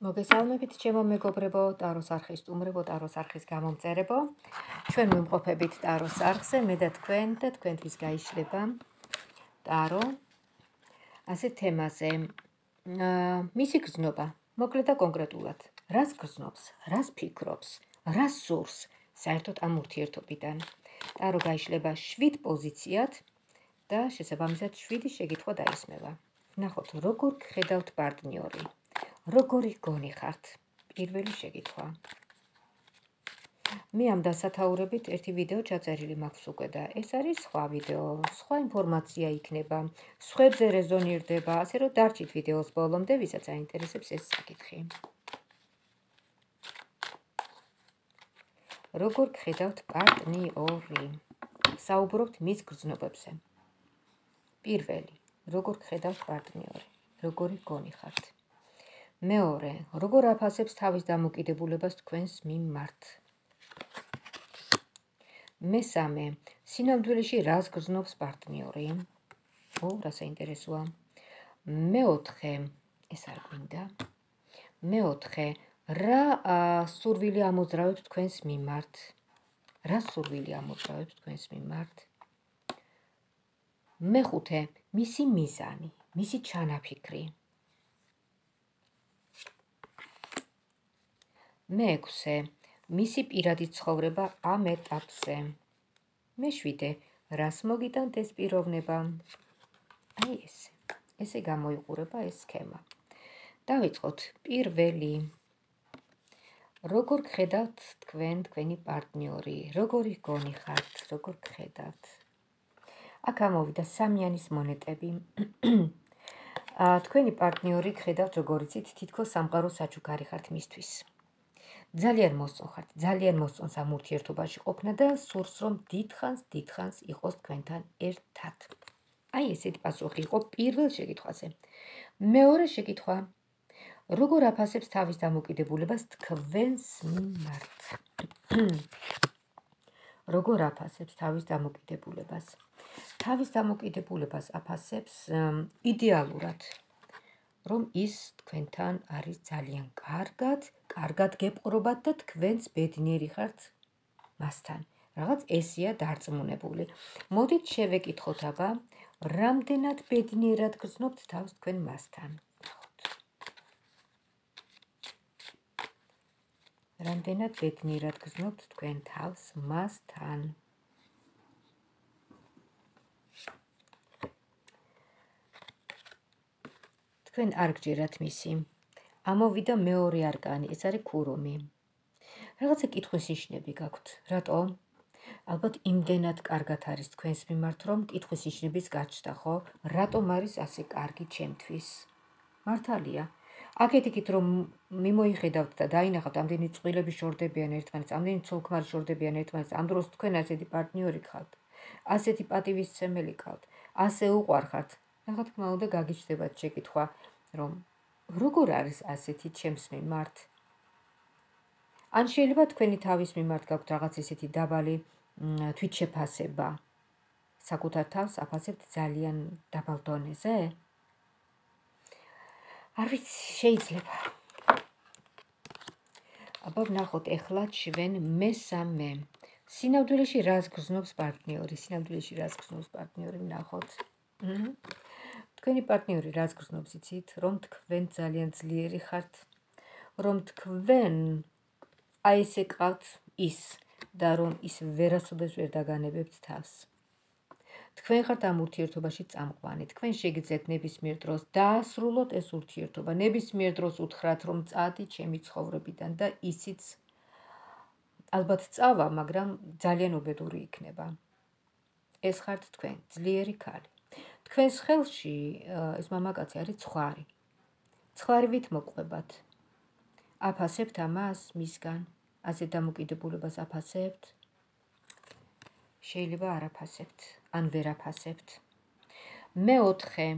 მოგესალმებით, ჩემო მეგობრებო, ტაროს არხის სტუმრებო, ტაროს არხის გამომწერებო. ჩვენ ვიმყოფებით ტაროს არხზე, მე და თქვენთვის გაიშლება ტარო. ასე თემაზე, მისი გრძნობა, მოკლედ და კონკრეტულად, რას გრძნობს, რას ფიქრობს, რას სურს საერთოდ ამ ურთიერთობიდან. ტარო გაიშლება 7 პოზიციად და შესაბამისად 7 შეკითხვა დაისმევა. ვნახოთ, როგორ გხედავთ პარტნიორი. როგორი გონი ხართ? პირველი შეკითხვა. მე ამ დასათაურებით ერთი ვიდეო ჩაწერილი მაქვს უკვე და ეს არის სხვა ვიდეო, სხვა ინფორმაცია იქნება, სხვებზე რეზონირდება, ასე რომ დარჩით ვიდეოს ბოლომდე, ვისაც აინტერესებს ეს საკითხი. როგორ გხედავთ პარტნიორი? საუბრობთ მის გრძნობებზე. პირველი, როგორ გხედავთ პარტნიორი? როგორი გონი ხართ? მეორე, როგორ აფასებს თავის დამოკიდებულებას თქვენს მიმართ? მესამე, სინამდვილეში რას გრძნობს პარტნიორი? რა საინტერესოა. მეოთხე, ეს არ გვინდა. მეოთხე, რა სურვილი ამოძრავებს თქვენს მიმართ? რა სურვილი ამოძრავებს თქვენს მიმართ? მეხუთე, მისი მიზანი, მისი ჩანაფიქრი. მეექვსე, მისი პირადი ცხოვრება ამ ეტაპზე. მეშვიდე, რას მოგიტანთ ეს პიროვნება? აი ესე გამოიყურება ეს სქემა. დავიწყოთ პირველი. როგორ გხედავთ თქვენი პარტნიორი? როგორი გონი ხართ? როგორ გხედავთ? აქ ამოვიდა სამიანის მონეტები. თქვენი პარტნიორი გხედავთ როგორ იცით, თითქოს სამყარო საჩუქარი ხართ მისთვის. ძალიან მოსწონხართ, ძალიან მოსწონს ამ ურთიერთობაში ყოფნა და სურს რომ დიდხანს იყოს თქვენთან ერთად. აი ესეთი პასუხი იყო პირველ შეკითხვაზე. მეორე შეკითხვა. როგორ აფასებს თავის დამოკიდებულებას თქვენს მიმართ? როგორ აფასებს თავის დამოკიდებულებას? თავის დამოკიდებულებას აფასებს იდეალურად, რომ ის თქვენთან არის ძალიან კარგად გეპყრობათ და თქვენც ბედნიერი ხართ მასთან. რაღაც ესეა დარწმუნებული. მოდით შევეკითხოთ აბა, რამდენად ბედნიერად გრძნობთ თავს თქვენ მასთან? რამდენად ბედნიერად გრძნობთ თქვენ თავს მასთან? თქვენ არ გჯერათ მისი. ამოვიდა მეორე არკანი, ეს არის ქურუმი. რაღაცა კითხვის ნიშნები გაქვთ. რატო? ალბათ იმდენად კარგად არის თქვენს მიმართ, რომ კითხვის ნიშნების გაჩნდა, ხო? რატომ არის ასე კარგი ჩემთვის? მართალია. აქეთ-იქით რომ მიმოიხედავთ და დაინახავთ, ამდენი წყვილები შორდებიან ერთმანეთს, ამდენი ცოლ-ქმარი შორდებიან ერთმანეთს, ამ დროს თქვენ ასეთი პარტნიორი ხართ, ასეთი პატივისცემელი ხართ, ასე უყვარხართ. რა თქმა უნდა, გაგიჩნდებათ შეკითხვა, რომ როგორ არის ასეთი ჩემს მიმართ? ან შეიძლება თქვენი თავის მიმართ გაქვთ რაღაც ესეთი დაბალი თვითშეფასება. საკუთარ თავს აფასებთ ძალიან დაბალ დონეზე? არ ვიცი, შეიძლება. აბა ვნახოთ ეხლა ჩვენ მესამე. სინამდვილეში რას გრძნობს პარტნიორი? სინამდვილეში რას გრძნობს პარტნიორი? ვნახოთ. თქვენი პარტნიორი რას გრძნობს, იცით? რომ თქვენ ძალიან ძლიერი ხართ, რომ თქვენ აი ესე ყავთ ის და რომ ის ვერასოდეს ვერ დაგანებებთ თავს. თქვენ ხართ ამ ურთიერთობაში წამყვანი, თქვენ შეგიძლიათ ნებისმიერ დროს დაასრულოთ ეს ურთიერთობა, ნებისმიერ დროს უთხრათ, რომ წადი ჩემი ცხოვრებიდან და ისიც ალბათ წავა, მაგრამ ძალიან უბედური იქნება. ეს ხართ თქვენ, ძლიერი ქალი. თქვენს ხელში ეს მამაკაცი არის ცხვარი. ცხვარივით მოყვებათ. აფასებთ ამას მისგან, ასე დამოკიდებულებას აფასებთ? შეიძლება არ აფასებთ, ან ვერ აფასებთ. მეოთხე,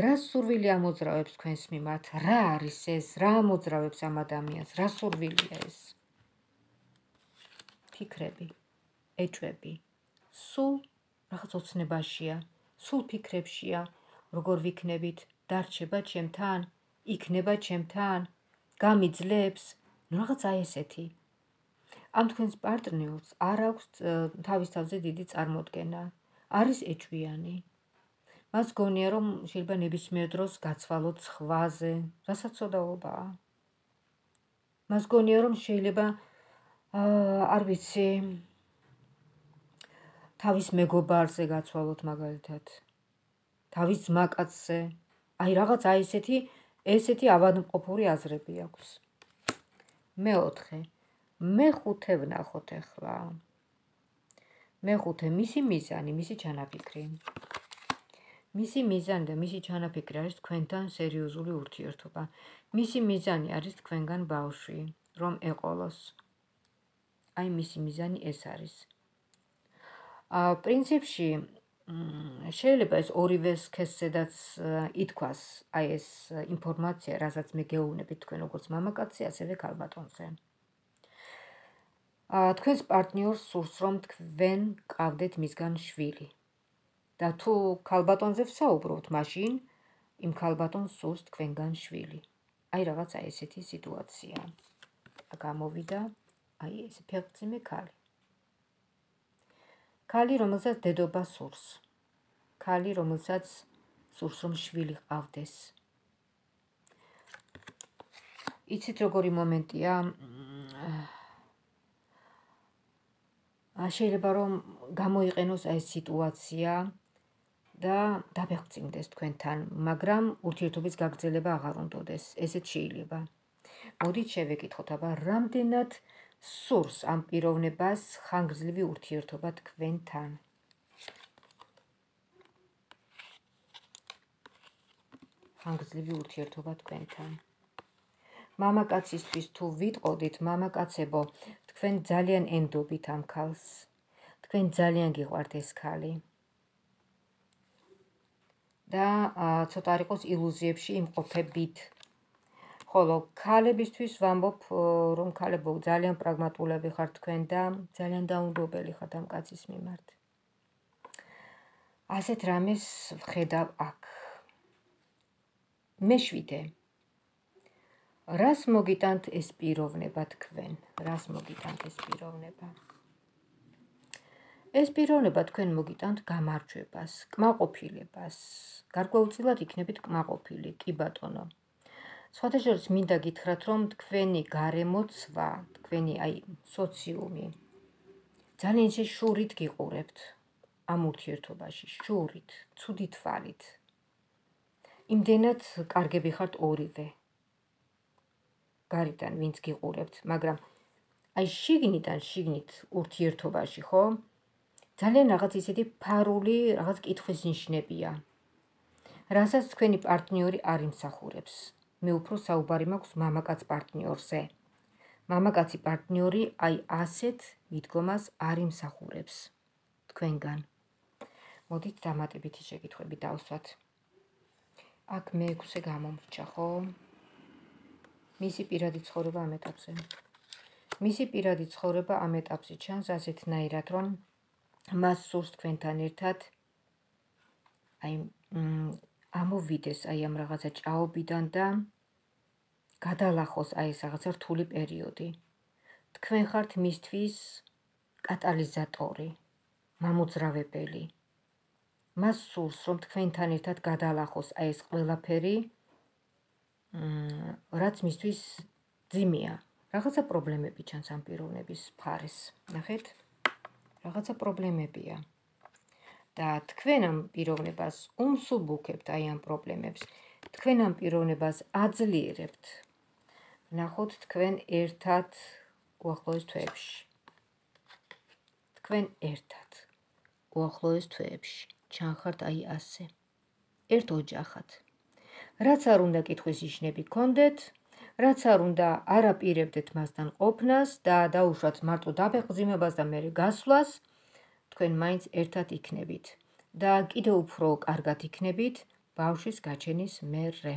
რა სურვილი ამოძრავებს თქვენს მიმართ? რა არის ეს? რა ამოძრავებს ამ ადამიანს? რა სურვილია ეს? ფიქრები, ეჭვები, სულ რაღაც ოცნებაშია, სულ ფიქრებშია, როგორ ვიქნებით, დარჩება ჩემთან, იქნება ჩემთან, გამიძლებს, რაღაც აი ესეთი. ამ თქვენს პარტნიორს არ აქვს თავის თავზე დიდი წარმოდგენა, არის ეჭვიანი. მას გონია, რომ შეიძლება ნებისმიერ დროს გაცვალოთ სხვაზე, რასაც ცოდაობაა. მას გონია, რომ შეიძლება არ ვიცი, თავის მეგობარზე გაცვალოთ მაგალითად, თავის ძმაკაცზე. აი რაღაც აი ესეთი ავადმყოფური აზრები აქვს. მეოთხე, მეხუთე ვნახოთ ახლა. მეხუთე, მისი მიზანი, მისი ჩანაფიქრი. მისი მიზანი და მისი ჩანაფიქრი არის თქვენთან სერიოზული ურთიერთობა. მისი მიზანი არის თქვენგან ბავშვი, რომ ეყოლოს. აი მისი მიზანი ეს არის. პრინციპში შეიძლება ეს ორივე სქესზედაც ითქვას აი ეს ინფორმაცია, რასაც მე გეუბნებით თქვენ როგორც მამაკაცზე, ასევე ქალბატონზე. თქვენს პარტნიორს სურს, რომ თქვენ გყავდეთ მისგან შვილი. და თუ ქალბატონზე ვსაუბრობთ, მაშინ იმ ქალბატონს სურს თქვენგან შვილი. აი რაღაც აი ესეთი სიტუაცია. გამოვიდა აი ეს ფეხმძიმე ქალი. ქალი, რომელსაც დედობა სურს. ქალი, რომელსაც სურს, რომ შვილი ყავდეს. იცით როგორი მომენტია? შეიძლება რომ გამოიყენოს აი ეს სიტუაცია და დაფეხმძიმდეს თქვენთან, მაგრამ ურთიერთობის გაგრძელება აღარ უნდოდეს. ესეც შეიძლება. მოდით შევეკითხოთ, აბა რამდენად სურს ამ პიროვნებას ხანგრძლივი ურთიერთობა თქვენთან. ხანგრძლივი ურთიერთობა თქვენთან. მამაკაცისთვის თუ ვიტყოდით, მამაკაცებო, თქვენ ძალიან ენდობით ამ ქალს. თქვენ ძალიან გიყვართ ეს ქალი. და ცოტა არ იყოს ილუზიებში იმყოფებით. ხოლო ქალებისთვის ვამბობ, რომ ქალებო ძალიან პრაგმატულები ხართ თქვენ და ძალიან დაუნდობელი ხართ ამ კაცის მიმართ. ასეთ რამეს ვხედავ აქ. მეშვიდე. რას მოგიტანთ ეს პიროვნება თქვენ? რას მოგიტანთ ეს პიროვნება? ეს პიროვნება თქვენ მოგიტანთ გამარჯვებას, კმაყოფილებას. გარკვეულწილად იქნებით კმაყოფილი, კი ბატონო. სხვათა შორის მინდა გითხრათ, რომ თქვენი გარემოცვა, თქვენი აი სოციუმი ძალიან ისე შურით გიყურებთ ამ ურთიერთობაში, შურით, ცუდი თვალით. იმდენად კარგები ხართ ორივე. გარიდან ვინც გიყურებთ, მაგრამ აი შიგნით ურთიერთობაში, ხო? ძალიან რაღაც ისეთი ფარული, რაღაც კითხვის ნიშნებია. რასაც თქვენი პარტნიორი არ იმსახურებს. მე უფრო საუბარი მაქვს მამაკაც პარტნიორზე. მამაკაცი პარტნიორი აი ასეთ მიდგომას არ იმსახურებს თქვენგან. მოდით დამატებითი შეკითხვები დავსვათ. აქ მე-6 გამომრჩა, ხო? მისი პირადი ცხოვრება ამ ეტაპზე. მისი პირადი ცხოვრება ამ ეტაპზე ჩანს ასეთნაირად, რომ მას სურს თქვენთან ერთად აი ამოვიდეს აი ამ რაღაცა ჭაობიდან და გადალახოს აი ეს რაღაცა რთული პერიოდი. თქვენ ხართ მისთვის კატალიზატორი, მამოძრავებელი. მას სურს, რომ თქვენთან ერთად გადალახოს აი ეს ყველაფერი, რაც მისთვის ძიმეა. რაღაცა პრობლემები ჩანს ამ პიროვნების მხარეს. ნახეთ? რაღაცა პრობლემებია. და თქვენ ამ პიროვნებას უმსუბუქებთ აი ამ პრობლემებს. თქვენ ამ პიროვნებას აძლიერებთ. ვნახოთ თქვენ ერთად უახლოეს თვეებში. თქვენ ერთად უახლოეს თვეებში. ჩანხართ აი ასე. ერთ ოჯახად. რაც არ უნდა კითხვის ნიშნები გქონდეთ, რაც არ უნდა არაპირებდეთ მასთან ყოფნას და დაუშვათ მარტო დაფეხმძიმებას და მერე გასვლას, თქვენ მაინც ერთად იქნებით და კიდევ უფრო კარგად იქნებით ბავშვის გაჩენის მერე.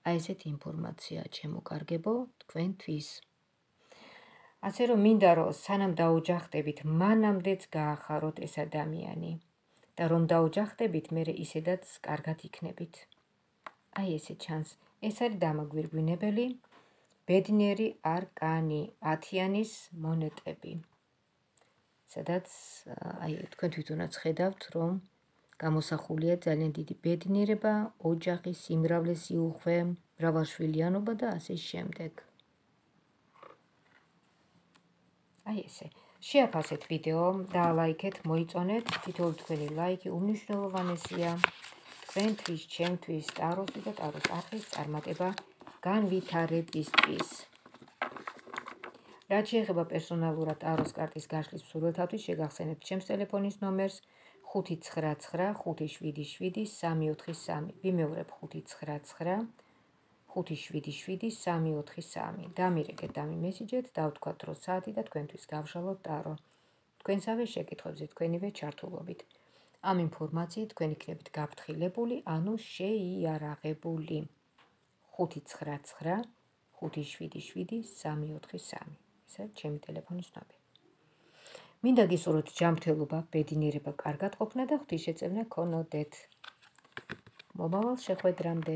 აი ესეთი ინფორმაცია ჩემო კარგებო თქვენთვის. ასე რომ მინდა რომ სანამ დაოჯახდებით, მანამდეც გაახაროთ ეს ადამიანი და რომ დაოჯახდებით, მერე ისედაც კარგად იქნებით. აი ესე ჩანს. ეს არის დამაგვირგვინებელი. ბედნიერი არკანი, 10-იანის მონეტები. სადაც თქვენ თვითონაც ხედავთ, რომ გამოსახულია ძალიან დიდი ბედნიერება, ოჯახი, სიმრავლე, სიუხვე, მრავალშვილიანობა და ასე შემდეგ. ესე. შეაფასეთ ვიდეო, დაალაიქეთ, მოიწონეთ, თითოეული თქვენი ლაიქი უმნიშვნელოვანესია. თქვენთვის, ჩემთვის, ტაროსთვის და ტაროს არხის წარმატება განვითარებისთვის. რაც შეეხება პერსონალურად ტაროს კარტის გაშლის მსურველთათვის, შეგახსენებთ ჩემს ტელეფონის ნომერს 599577343. ვიმეორებ 599577343. დამირეკეთ, დამიმესიჯეთ, დავთქვათ დრო საათი და თქვენთვის გავშალოთ ტარო. თქვენსავე შეკითხვებზე თქვენივე ჩართულობით. ამ ინფორმაციით თქვენ იქნებით გაფრთხილებული, ანუ შეიარაღებული. 599577343. ესე ჩემი ტელეფონის ნომერი. მინდა გისურვოთ ჯანმრთელობა, ბედნიერება, კარგად ყოფნა და ღვთისშეწევნა გქონოდეთ. მომავალ შეხვედრამდე.